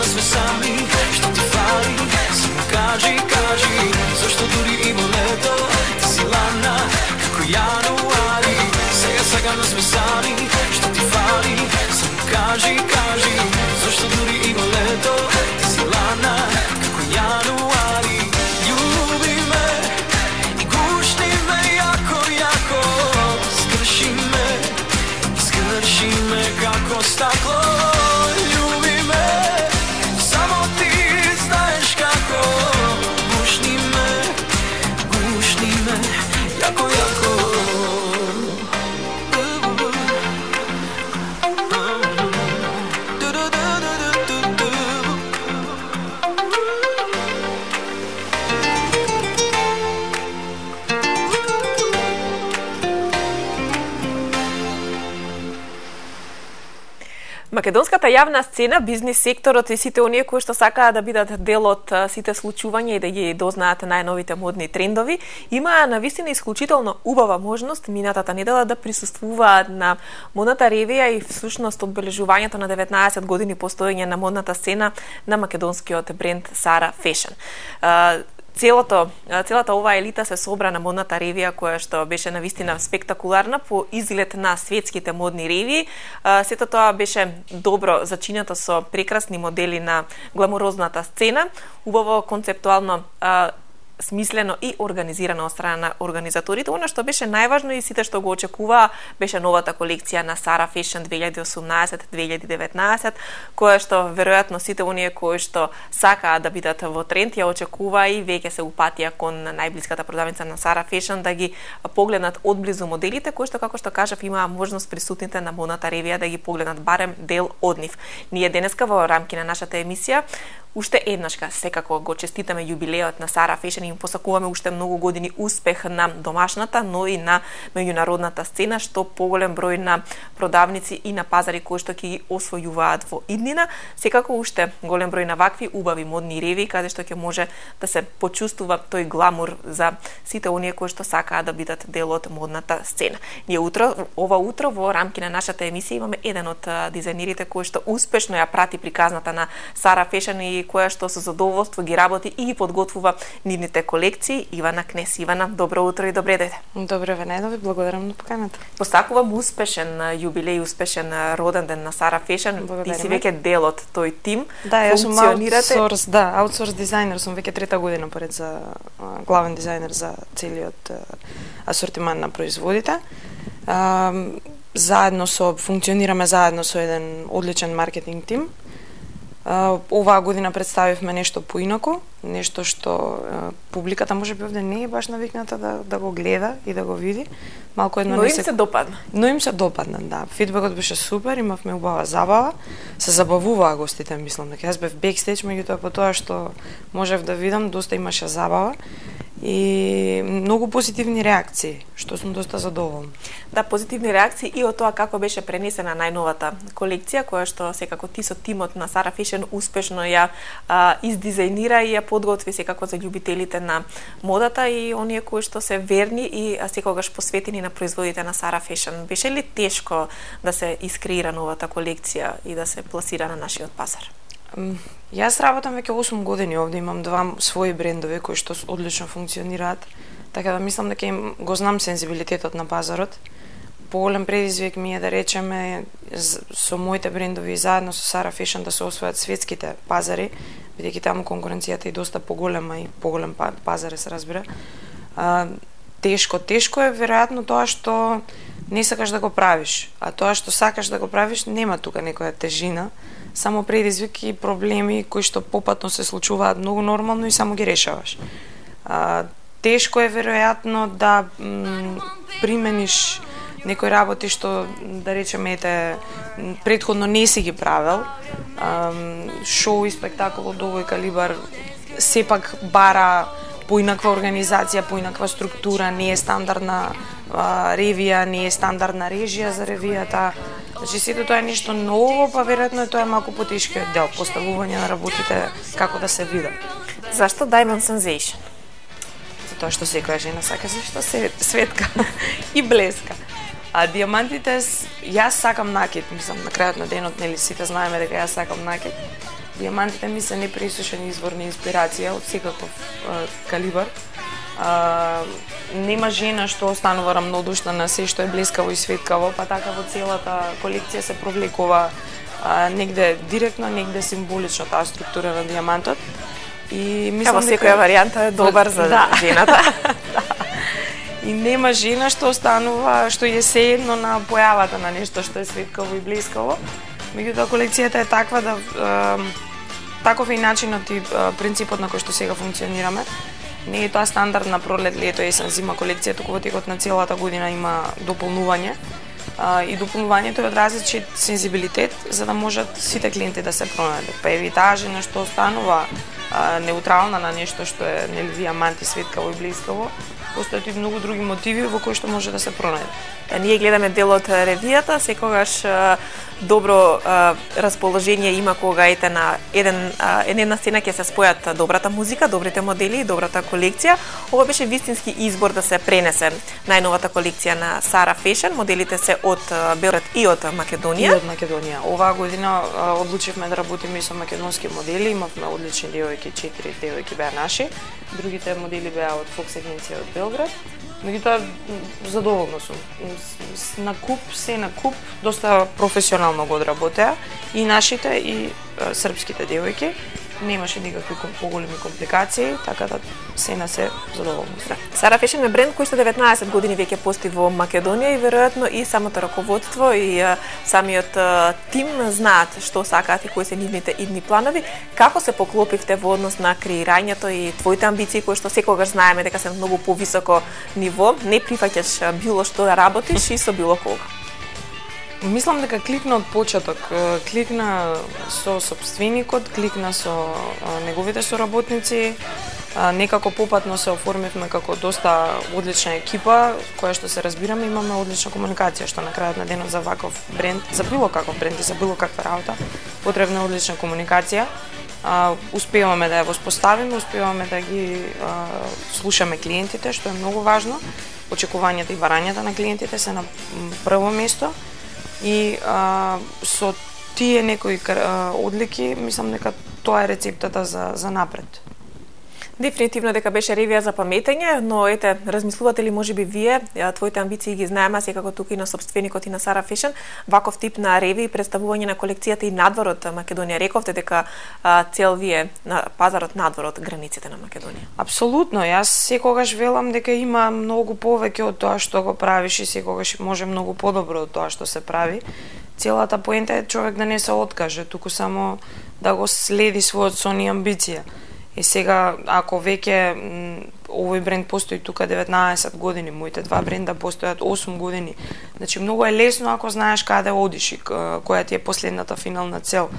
сме сами, што ти фали, само кажи, кажи, зашто дури има лето, ти си ладна, како јануари, сега сакам да сме сами, што ти фали, само кажи, кажи, зашто дури има лето, ти си ладна, како јануари, љуби ме и гушни ме јако, јако, скрши me како стакло, љуби ме, само ти знаеш како, гушни me, јако, јако. Македонската јавна сцена, бизнис секторот и сите оние кои што сакаат да бидат дел од сите случувања и да ги дознаат најновите модни трендови, имаа навистина исклучително убава можност минатата недела да присуствуваат на модната ревија и всушност одбележувањето на 19 години постоење на модната сцена на македонскиот бренд Sara Fashion. Целата оваа елита се собра на модната ревија која што беше навистина спектакуларна по изглед на светските модни ревии. Сето тоа беше добро зачинето со прекрасни модели на гламурозната сцена, убаво концептуално смислено и организирано од страна на организаторите. Она што беше најважно и сите што го очекуваа беше новата колекција на Sara Fashion 2018-2019, која што веројатно сите оние кои што сакаат да бидат во тренд ја очекуваа и веќе се упатија кон најблиската продавница на Sara Fashion да ги погледнат одблизу моделите кои што, како што кажав, имаа можност присутните на модната ревија да ги погледнат барем дел од нив. Ние денеска во рамки на нашата емисија уште еднашка секако го честитаме јубилеот на Sara Fashion и им посакуваме уште многу години успех на домашната, но и на меѓународната сцена, што поголем број на продавници и на пазари кои што ќе ги освојуваат во иднина. Секако уште голем број на вакви убави модни реви каде што ќе може да се почувствува тој гламур за сите оние кои што сакаат да бидат дел од модната сцена. Ние ова утро во рамки на нашата емисија имаме еден од дизајнерите кој што успешно ја прати приказната на Sara Fashion и која што со задоволство ги работи и ги подготвува нивните колекции. Ивана Кнес. Ивана, добро утро и добре дојде. Добро ве најдови, благодарам на поканата. Посакувам успешен јубилеј, успешен роден ден на Sara Fashion. Благодарим. Ти си веќе дел од тој тим. Да, јас сум аутсорс дизајнер, сум веќе трета година поред за главен дизајнер за целиот асортиман на производите. Функционираме заедно со еден одличен маркетинг тим. Оваа година представивме нешто поинако, нешто што публиката можеби овде не е баш навикната да го гледа и да го види. Малку едно Но им се допадна. Но им се допадна, да. Фидбекот беше супер, имавме убава забава, се забавуваа гостите, мислам дека јас бев бекстејдж, меѓутоа по тоа што можев да видам, доста имаше забава и многу позитивни реакции, што сум доста задоволна. Да, позитивни реакции и од тоа како беше пренесена најновата колекција, која што секако ти со тимот на Sara Fashion успешно ја издизајнира и ја подготви секако за љубителите на модата и оние кои што се верни и секогаш посветени на производите на Sara Fashion. Беше ли тешко да се искреира новата колекција и да се пласира на нашиот пазар? Јас работам веќе 8 години овде, имам два своји брендови кои што одлично функционираат, така да мислам дека го знам сензибилитетот на пазарот. Поголем предизвик ми е да речеме со моите брендови и заедно со Sara Fashion да се освојат светските пазари, бидејќи таму конкуренцијата е доста поголема и поголем пазар се разбира. Тешко е веројатно тоа што не сакаш да го правиш, а тоа што сакаш да го правиш нема тука некоја тежина, само предизвик и проблеми кои што попатно се случуваат многу нормално и само ги решаваш. Тешко е веројатно да примениш некои работи што, да речеме, предходно не си ги правел. Шоу и спектакол од овој калибар сепак бара поинаква организација, поинаква структура, не е стандардна ревија, не е стандардна режија за ревијата. Значи, сето тоа е нешто ново, па веројатно тоа е малку потешкиот дел, поставување на работите како да се видат. Зашто Diamond Sensation? Затоа што секоја жена сака зашто светка и блеска. А диамантите, јас сакам накид, мислам, на крајот на денот, нели, сите знаеме дека јас сакам накид. Дијамантите ми се непресушен извор на инспирација од секаков калибар. Нема жена што останува рамнодушна на се што е блескаво и светкаво, па така во целата колекција се провлекува негде директно, негде символично таа структура на дијамантот. И мислам дека секоја варијанта е добар за жената. И нема жена што останува, што е сеедно на појавата на нешто што е светкаво и блескаво. Меѓутоа колекцијата е таква да таков е и начинот и принципот на кој што сега функционираме. Не е тоа стандардна пролет, лето, есен, зима колекција, туку во текот на целата година има дополнување. И дополнувањето е од различит сензибилитет за да можат сите клиенти да се пронајдат. Па еви таа жена што останува неутрална на нешто што е нели дијамант и светкаво и блескаво, постојат и многу други мотиви во кои што може да се пронајде. Ние гледаме дел од ревијата, секогаш добро расположение има кога ете на една сцена ќе се спојат добрата музика, добрите модели и добрата колекција. Ова беше вистински избор да се пренесе најновата колекција на Sara Fashion. Моделите се од Белград и од Македонија. И од Македонија. Оваа година одлучивме да работиме со македонски модели, имавме одлични девојки, 4 девојки беа наши. Другите модели беа од Fox агенција од Белград. Меѓутоа задоволна сум. На куп, се на куп, доста професионално го одработеа и нашите и српските девојки. Немаше никакви поголеми компликации, така да се на се задоволна сум. Sara Fashion е бренд кој што 19 години веќе постои во Македонија и веројатно и самото раководство и самиот тим знаат што сакаат и кои се нивните идни планови. Како се поклопивте во однос на креирањето и твоите амбиции кои што секогаш знаеме дека се многу повисоко ниво, не прифаќаш било што да работиш и со било кога? Мислам дека кликна од почеток, кликна со сопственикот, кликна со неговите соработници, некако попатно се оформивме како доста одлична екипа, која што се разбираме, имаме одлична комуникација, што на крајот на денот за ваков бренд, за било каков бренд и за било каква работа, потребна е одлична комуникација. Успеваме да ја воспоставиме, успеваме да ги слушаме клиентите, што е многу важно. Очекувањата и барањата на клиентите се на прво место. И со тие некои одлики, мислам дека тоа е рецептата за напред. Дефинитивно дека беше ревија за паметење, но ете, размислувате ли можеби вие, твоите амбиции ги знаеме, секако тука и на сопственикот и на Sara Fashion, ваков тип на реви и представување на колекцијата и надвор од Македонија. Рековте дека цел вие на пазарот надвор од границите на Македонија. Апсолутно, јас секогаш велам дека има многу повеќе од тоа што го правиш и секогаш може многу подобро од тоа што се прави. Целата поента е човек да не се откаже, туку само да го следи својот сон и амбиција. И сега, ако веќе овој бренд постои тука 19 години, моите два бренда постојат 8 години, значи многу е лесно ако знаеш каде одиш и која ти е последната финална цел.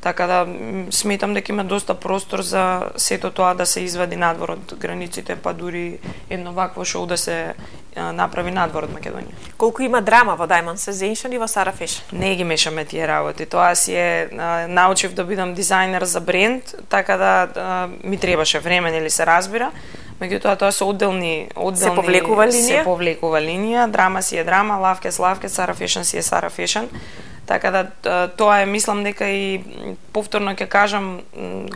Така да сметам дека има доста простор за сето тоа да се извади надвор од границите, па дури едно вакво шоу да се направи надвор од Македонија. Колку има драма во Diamond Sensation и во Sara Fashion? Не ги мешаме тие работи. Тоа си е научив да бидам дизајнер за бренд, така да ми требаше време, нели се разбира. Меѓутоа тоа се одделни се повлекува линија. Се повлекува линија, драма си е драма, лавкес, Sara Fashion си е Sara Fashion. Така да тоа е, мислам дека и повторно ќе кажам,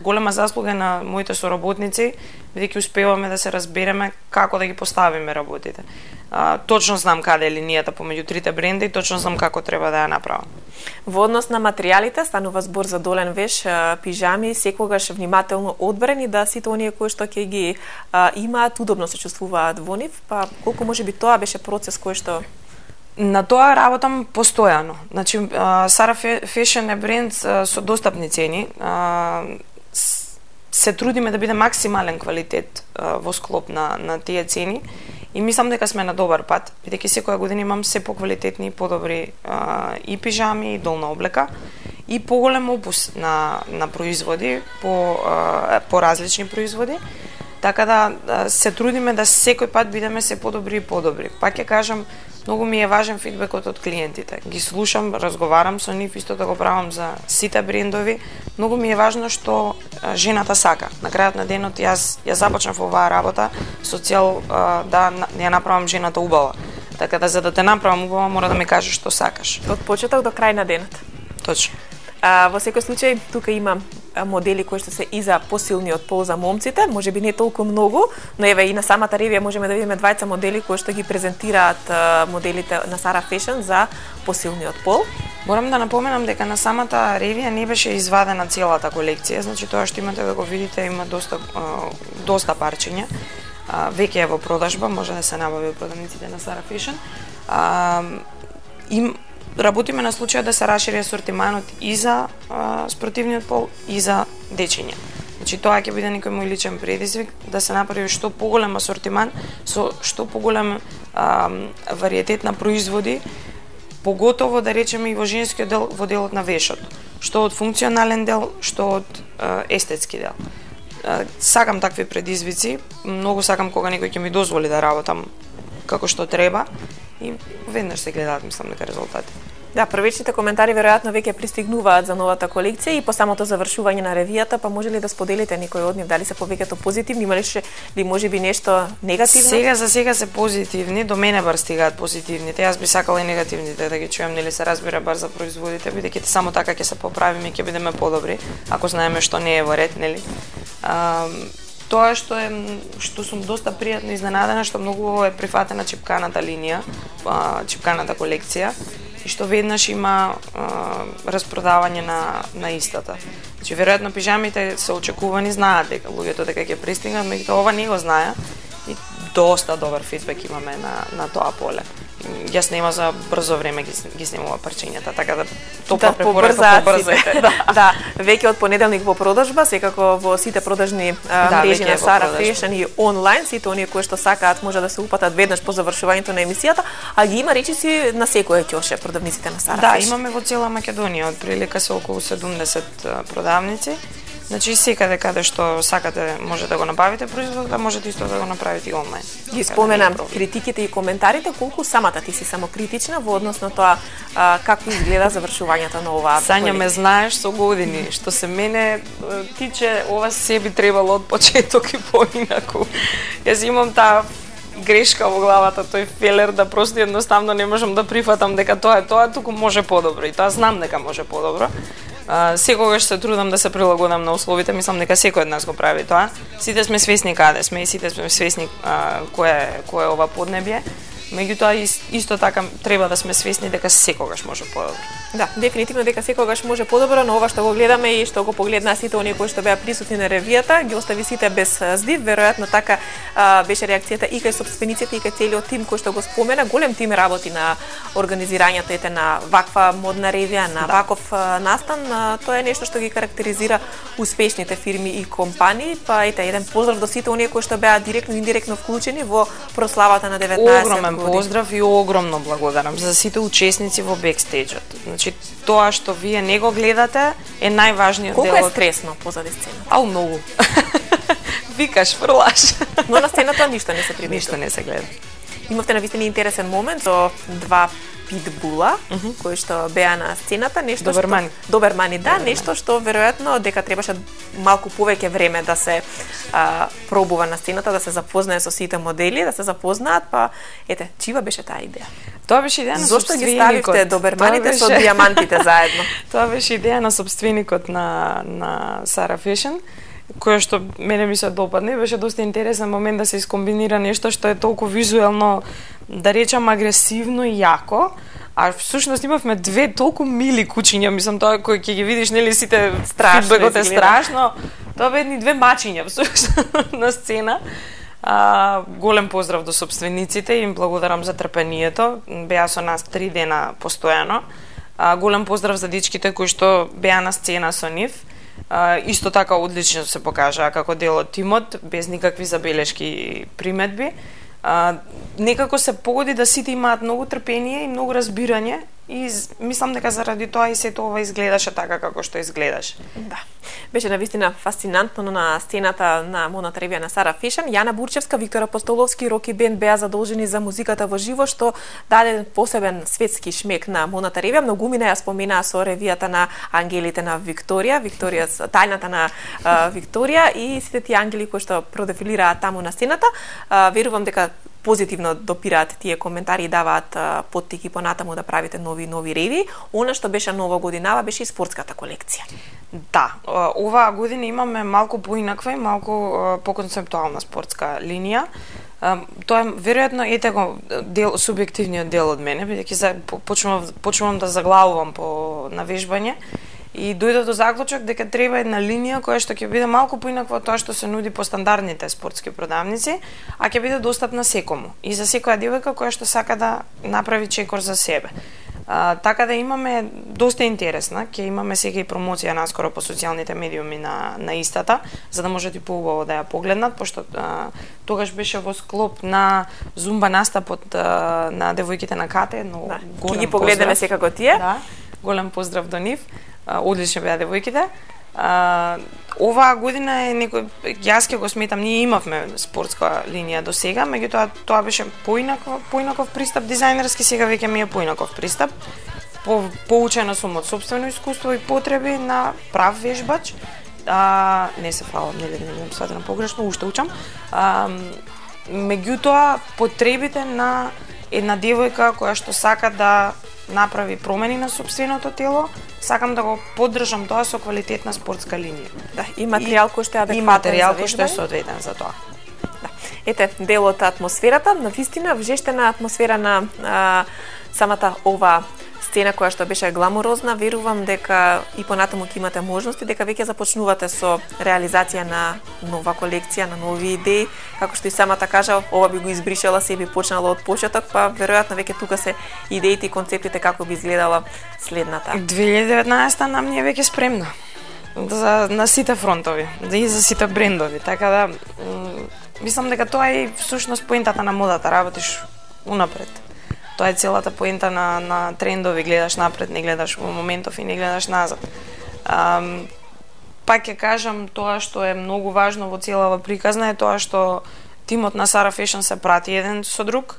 голема заслуга на моите соработници, бидејќи успеваме да се разбереме како да ги поставиме работите. Точно знам каде е линијата помеѓу трите бренда и точно знам како треба да ја направам. Во однос на материјалите, станува збор за долен веш, пижами, секогаш внимателно одбрани да сите оние кои што ќе ги имаат удобно се чувствуваат во нив, па колку можеби тоа беше процес кој што На тоа работам постојано. Значи, Sara Fashion е бренд со достапни цени. Се трудиме да биде максимален квалитет во склоп на тие цени и мислам дека сме на добар пат, бидејќи секоја година имам се поквалитетни и подобри и пижами, и долна облека, и поголем опус на производи, по различни производи. Така да се трудиме да секој пат бидеме се подобри и подобри. Пак ќе кажам, многу ми е важен фидбекот од клиентите. Ги слушам, разговарам со нив, исто да го правам за сите брендови. Многу ми е важно што жената сака. На крајот на денот јас започнав оваа работа со цел да ја направам жената убава. Така да за да те направам убава мора да ми кажеш што сакаш. Од почеток до крај на денот. Точно. Во секој случај, тука има модели кои што се и за посилниот пол за момците, можеби не толку многу, но еве и на самата ревија можеме да видиме двајца модели кои што ги презентираат моделите на Sara Fashion за посилниот пол. Морам да напоменам дека на самата ревија не беше извадена целата колекција, значи тоа што имате да го видите има доста парчиња. Веќе е во продажба, може да се набави од продавниците на Sara Fashion. Работиме на случај да се расшири асортиманот и за спортивниот пол и за дечиња. Значи тоа ќе биде некој мој личен предизвик да се направи што поголем асортиман со што поголем вариетет на производи, поготово да речеме и во женскиот дел, во делот на вешот, што од функционален дел, што од естетски дел. Сакам такви предизвици, многу сакам кога некој ќе ми дозволи да работам како што треба и веднаш се гледаат, мислам, дека резултати. Да, првичните коментари веројатно веќе пристигнуваат за новата колекција и по самото завршување на ревијата, па може ли да споделите некој од нив, дали се повеќето позитивни, имаше ли можеби нешто негативно? Сега за сега се позитивни, до мене бар стигаат позитивните. Јас би сакала и негативните да ги чуем, нели се разбира бар за производите, бидејќи само така ќе се поправиме и ќе бидеме подобри, ако знаеме што не е во ред, нели? Тоа што сум доста пријатно изненадена, што многу е прифатена чипканата линија, чипканата колекција, и што веднаш има распродавање на истата. Значи, веројатно пижамите се очекувани, знаат дека луѓето дека ќе пристигнат, меѓутоа ова не го знае и доста добар фидбек имаме на тоа поле. Јас нема за брзо време ги снимува парчињата, така да топла препорака побрзајте. Да, веќе од понеделник во продажба, секако во сите продажни мрежи на Sara Fashion и онлайн, сите оние кои што сакаат може да се упатат веднаш по завршувањето на емисијата, а ги има речиси на секој ќоше продавниците на Sara Fashion. Да, имаме во цела Македонија, од прилика се околу 70 продавници. Значи секаде каде што сакате може да го набавите производот, можете исто да го направите и онлайн. Ги споменам критиките и коментарите, колку самата ти си самокритична во однос на тоа како изгледа завршувањето на оваа Сања, ме знаеш со години, што се мене тиче, ова се би требало од почеток и поинаку. Јас имам таа грешка во главата, тој фелер да просто едноставно не можам да прифатам дека тоа е тоа, туку може подобро и тоа знам дека може подобро. Секогаш се трудам да се прилагодам на условите, мислам дека секој од нас го прави тоа. Сите сме свесни каде сме и сите сме свесни кое е ова поднебје. Меѓутоа исто така треба да сме свесни дека секогаш може подобро. Да, дефинитивно дека секогаш може подобро, но ова што го гледаме и што го погледнаа сите оние кои што беа присутни на ревијата, ги остави сите без здив. Веројатно така беше реакцијата и кај сопствениците и кај целиот тим кој што го спомена. Голем тим работи на организирањето на ваква модна ревија, на ваков настан. Тоа е нешто што ги карактеризира успешните фирми и компании. Па ете, еден поздрав до сите оние кои што беа директно и индиректно вклучени во прославата на 19 поздрав и огромно благодарам за сите учесници во бекстејџот. Значи, тоа што вие не го гледате е најважниот дел. Колку е стресно позади сцената? Ау, многу. Викаш, фрлаш. Но на сцената ништо не се приметува. Ништо не се гледа. Имавте навистина интересен момент со два питбула кои што беа на сцената, нешто добермани, да, нешто што веројатно дека требаше малку повеќе време да се пробува на сцената, да се запознае со сите модели, да се запознаат, па ете, чива беше таа идеја? Тоа беше идеја на Зошто ги ставивте доберманите со дијамантите заедно? Тоа беше идеја на сопственикот на Sara Fashion, која што мене ми се допадне, беше доста интересен момент да се искомбинира нешто што е толку визуелно, да речам, агресивно и јако, а всушност имавме две толку мили кучиња, мислам, тоа кој ќе ги видиш, нели, сите фидбекот е страшно, тоа бе едни две мачиња всушност на сцена. Голем поздрав до сопствениците, им благодарам за трпението, беа со нас 3 дена постојано. Голем поздрав за дечките кои што беа на сцена со нив. Исто така одлично се покажаа како дел од тимот, без никакви забелешки и приметби. Некако се погоди да сите имаат многу трпение и многу разбирање и мислам дека заради тоа и сето ова изгледаше така како што изгледаше. Да. Беше навистина фасцинантно на сцената на модната ревија на Sara Fashion. Јана Бурчевска, Виктор Апостоловски и Роки Бенд беа задолжени за музиката во живо, што даде посебен светски шмек на модната ревија. Многумина ја споменаа со ревијата на ангелите на Викторија, тајната на Викторија и сите тие ангели кои што продефилираат таму на сцената. Верувам дека позитивно допираат тие коментари и даваат поттики понатаму да правите нови реви. Она што беше нова годинава беше и спортската колекција. Да, оваа година имаме малку поинаква и малку поконцептуална спортска линија. Тоа е веројатно го субјективниот дел од мене, бидејќи почнувам да заглавувам по навежбање и дојде до заклучок дека треба една линија која што ќе биде малку поинаква од тоа што се нуди по стандардните спортски продавници, а ќе биде достапна секому и за секоја девојка која што сака да направи чекор за себе. Така да имаме доста интересна, ќе имаме сега и промоција наскоро по социјалните медиуми на истата, за да можете поубаво да ја погледнат, пошто тогаш беше во склоп на зумба настапот на девојките на Кате, но ќе ги погледнеме секако тие. Да, голем поздрав до нив. Одлични беа девојките. Оваа година е некој, јас ќе го сметам, ние имавме спортска линија до сега, меѓутоа тоа беше поинаков пристап дизајнерски, сега веќе ми е поинаков пристап. Поучена сум од сопствено искуство и потреби на прав вежбач. Не се фалам, не бидам сватена погрешно, уште учам. Меѓутоа потребите на една девојка која што сака да направи промени на сопственото тело, сакам да го поддржам тоа со квалитетна спортска линија. Да, и материјал кој што е адекватен. И материјал кој што е соодветен за тоа. Да. Ете, дел од атмосферата, навистина вжештена атмосфера на самата ова сцена која што беше гламурозна, верувам дека и понатаму ќе имате можности, дека веќе започнувате со реализација на нова колекција, на нови идеи, како што и самата кажа, ова би го избришала се и би почнала од почеток, па веројатно веќе тука се идеите и концептите како би изгледала следната. 2019 нам ни е веќе спремна на сите фронтови, и за сите брендови, така да мислам дека тоа е всушност поентата на модата, работиш унапред. Тоа е целата поента на трендови, гледаш напред, не гледаш во моментов и не гледаш назад. Пак ќе кажам, тоа што е многу важно во целава приказна е тоа што тимот на Sara Fashion се прати еден со друг,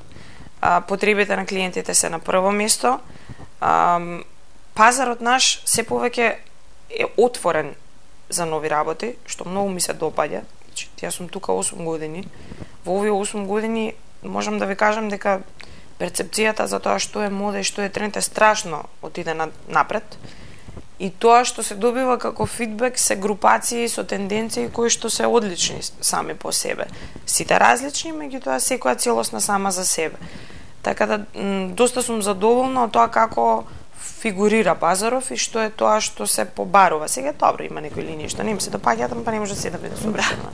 потребите на клиентите се на прво место, пазарот наш се повеќе е отворен за нови работи, што многу ми се допаѓа. Јас сум тука 8 години. Во овие 8 години можам да ви кажам дека перцепцијата за тоа што е мода и што е тренд е страшно отиде напред. И тоа што се добива како фидбек се групации со тенденции кои што се одлични сами по себе. Сите различни, меѓутоа секоја целосна сама за себе. Така да доста сум задоволна од тоа како фигурира пазаров и што е тоа што се побарува. Сега добро има некои линии што не им се допаѓаат, па не може се да биде собрано.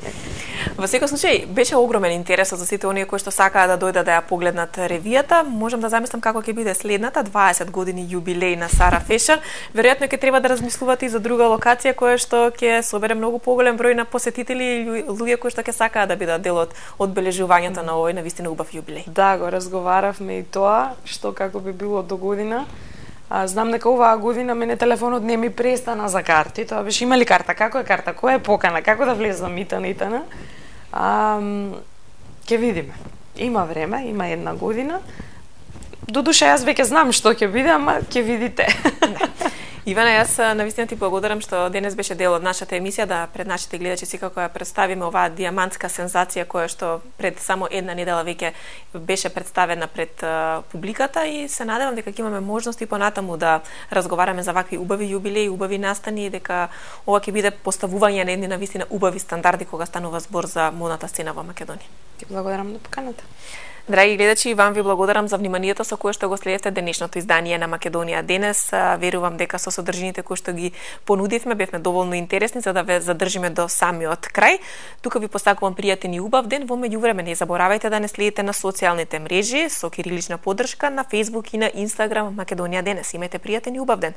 Во секој случај беше огромен интерес за сите оние кои што сакаат да дојдат да ја погледнат ревијата. Можам да замислам како ќе биде следната 20 години јубилеј на Sara Fashion. Веројатно ќе треба да размислувате и за друга локација која што ќе собере многу поголем број на посетители и луѓе кои што ќе сакаат да бидат дел од одбележувањето на овој навистина убав јубилеј. Да, го разговаравме и тоа што како би било до година. Знам дека оваа година мене телефонот не ми престана за карти. Тоа беше има ли карта, како е карта, која е покана, како да влезам итана. Ќе видиме. Има време, има една година. Додуше јас веќе знам што ќе биде, ама ќе видите. Ивана, јас навистина ти благодарам што денес беше дел од нашата емисија, да пред нашите гледачи секако ја представиме оваа дијамантска сензација која што пред само една недела веќе беше представена пред публиката и се надевам дека ќе имаме можности понатаму да разговараме за вакви убави јубилеи, убави настани и дека ова ќе биде поставување на едни навистина убави стандарди кога станува збор за модната сцена во Македонија. Ти благодарам на поканата. Драги гледачи, вам ви благодарам за вниманието со кое што го следевте денешното издание на Македонија денес. Верувам дека со содржините кои што ги понудивме бевме доволно интересни за да ве задржиме до самиот крај. Тука ви посакувам пријатен и убав ден. Во меѓувреме не заборавајте да не следите на социјалните мрежи со кирилична поддршка на Facebook и на Instagram Македонија денес. Имајте пријатен и убав ден.